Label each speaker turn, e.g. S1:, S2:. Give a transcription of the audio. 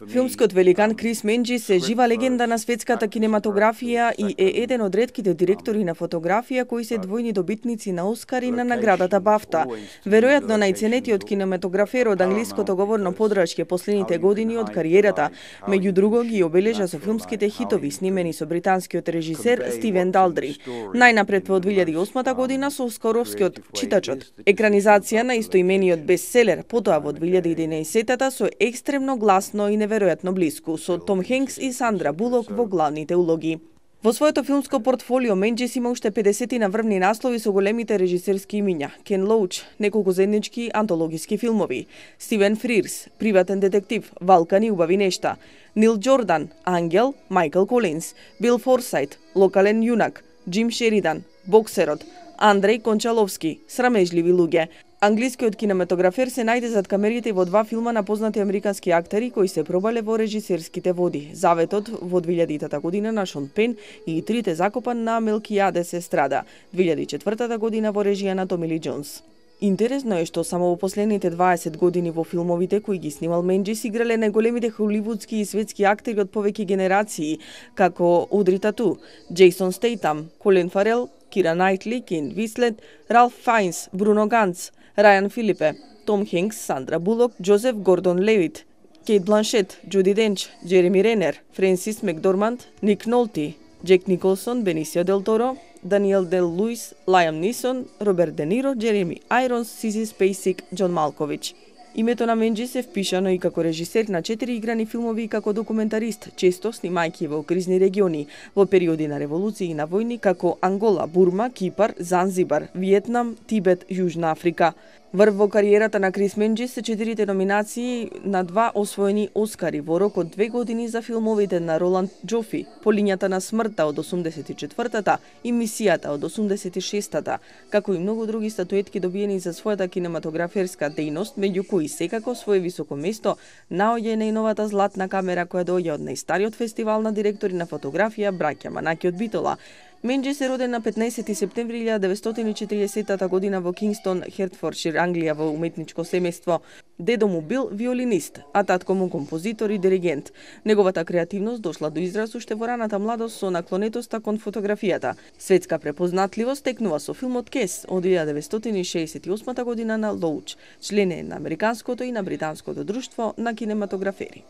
S1: Филмскиот великан Крис Менџис е жива легенда на светската кинематографија и е еден од ретките директори на фотографија кои се двојни добитници на Оскар и на наградата Бафта. Веројатно најценетиот кинематографер од англиското говорно подрачје последните години од кариерата, меѓу друго ги обележа со филмските хитови снимени со британскиот режисер Стивен Далдри. Најнапред во 2008 година со оскаровскиот Читачот, екранизација на истоимениот бестселер, потоа во 2011 со Екстремно гласно и неверојатно блиску, со Том Хенкс и Сандра Булок во главните улоги. Во своето филмско портфолио Менџис има уште 50 на врвни наслови со големите режисерски имиња: Кен Лоуч, неколку заеднички антологиски филмови, Стивен Фрирс, Приватен детектив, Валкани убави нешта, Нил Џордан, Ангел, Майкл Колинс, Бил Форсайт, Локален јунак, Џим Шеридан, Боксерот, Андреј Кончаловски, Срамежливи луѓе. Англискиот кинематографер се најде зад камерите во два филма на познати американски актери кои се пробале во режисерските води: Заветот во 2000 година на Шон Пен и Трите закопан на Мелкијадес Естрада, 2004 година во режија на Томи Ли Џонс. Интересно е што само во последните 20 години во филмовите кои ги снимал Менџис играле најголемите холивудски и светски актери од повеќе генерации, како Одри Тату, Џейсон Стейтам, Колин Фарел, Кира Најтли, Кен Вислет, Ралф Фајнс, Бруно Ганц, Рајан Филипе, Том Хенкс, Сандра Булок, Џозеф Гордон Левит, Кейт Бланшет, Џуди Денч, Џереми Ренер, Френсис Макдорманд, Ник Нолти, Џек Николсон, Бенисио Дел Торо, Даниел Дел Луис, Лајам Нисон, Роберт Де Ниро, Џереми Ајронс, Сиси Спейсик, Џон Малкович. Името на Менџис е впишано и како режисер на 4 играни филмови и како документарист, често снимајќи во кризни региони, во периоди на револуции и на војни како Ангола, Бурма, Кипар, Занзибар, Виетнам, Тибет, Јужна Африка. Врв во кариерата на Крис Менџис се 4 номинации на 2 освоени Оскари во рок од 2 години за филмовите на Роланд Џофи, По лињата на смртта од 84-та и Мисијата од 86-та, како и многу други статуетки добиени за својата кинематограферска дејност, меѓу кои секако свое високо место наоѓа најновата златна камера која доаѓа од најстариот фестивал на директори на фотографија браќа Манаки од Битола. Менџис е роден на 15 септември 1940 година во Кингстон, Хертфордшир, Англија, во уметничко семејство. Дедо му бил виолинист, а татко му композитор и диригент. Неговата креативност дошла до израз уште во раната младост со наклонетоста кон фотографијата. Светска препознатливост текнува со филмот Кес од 1968 година на Лоуч, член е на Американското и на Британското друштво на кинематографери.